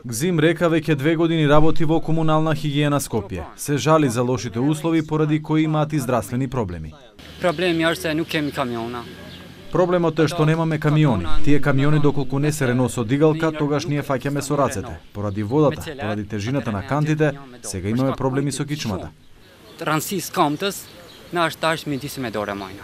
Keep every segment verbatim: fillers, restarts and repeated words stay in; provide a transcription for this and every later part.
Гзим Река веќе две години работи во комунална хигиена Скопје. Се жали за лошите услови поради кои имаат и здравствени проблеми. Проблеми е се нук еми камиона. Проблемот е што немаме камиони. Тие камиони доколку не се реносо дигалка, тогаш ние фаќаме со рацете. Поради водата, поради тежината на кантите, сега имаме проблеми со кичмата. Трансис камтес, наш таш ми дисме доре мајна.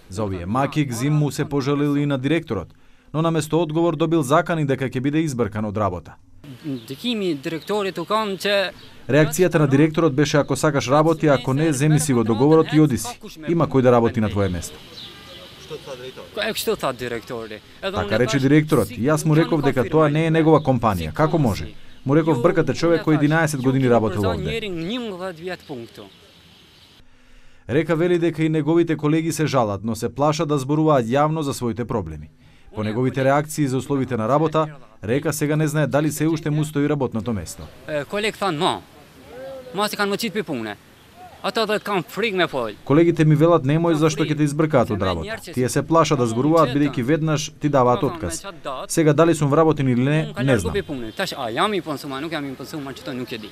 За овие маки Гзим му се пожалил и на директорот, но наместо одговор добил закани дека ќе биде избркан од работа. Дикими директорите кан че Реакцијата на директорот беше: ако сакаш работи, ако не, земи си го договорот и оди си. Има кој да работи на твое место. Што та директорите? Така рече директорот. И јас му реков дека тоа не е негова компанија. Како може? Му реков: бркате човек кој единаесет години работел овде. Река вели дека и неговите колеги се жалат, но се плашат да зборуваат јавно за своите проблеми. По неговите реакции за условите на работа, Река сега не знае дали се уште му стои работното место. Колег тан ма. Ма се кан мочит пе пуне. Ато да кан фриг ме фол. Колегите ми велат немој зашто ќе те избркаат од работа. Тие се плашат да зборуваат бидејќи веднаш ти даваат отказ. Сега дали сум вработен или не, не знам. Таш а ја ми понсума, нук ја ми понсума, чето нук е ди.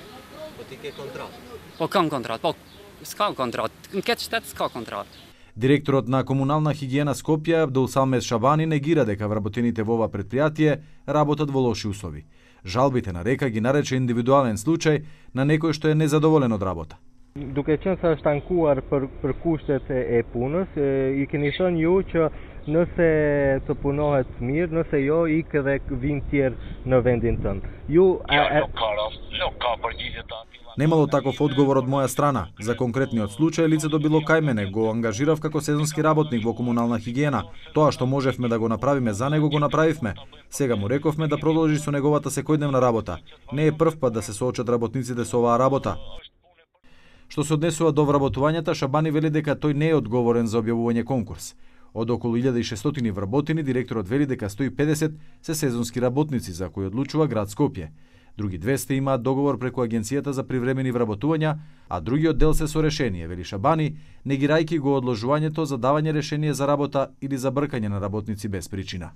По тике контракт. По кам контракт, по ска контракт. Кет штет ска контракт. Директорот на комунална хигиена Скопје Абдулсамед Шабани негира дека вработените во ова предпријатие работат во лоши услови. Жалбите на Река ги нарече индивидуален случај на некој што е незадоволен од работа. Duke qenë sa është tankuar për, për kushtet e punës, e, i keni thënë ju që nëse të punohet mirë, nëse jo, ik edhe vin tjerë në vendin tënd. Ju a, a... Nuk ka rast, nuk ka përgjigje të ati. Немало таков одговор од моја страна. За конкретниот случај лицето било кај мене, го ангажирав како сезонски работник во комунална хигиена. Тоа што можевме да го направиме за него, го направивме. Сега му рековме да продолжи со неговата секојдневна работа. Не е прв пат да се соочат работниците со оваа работа. Што се однесува до вработувањата, Шабани вели дека тој не е одговорен за објавување конкурс. Од околу илјада и шестстотини вработени, директорот вели дека сто и педесет се сезонски работници за кои одлучува град Скопје. Други двесте имаат договор преку Агенцијата за привремени вработувања, а другиот дел се со решение, вели Шабани, негирајќи го одложувањето за давање решение за работа или за бркање на работници без причина.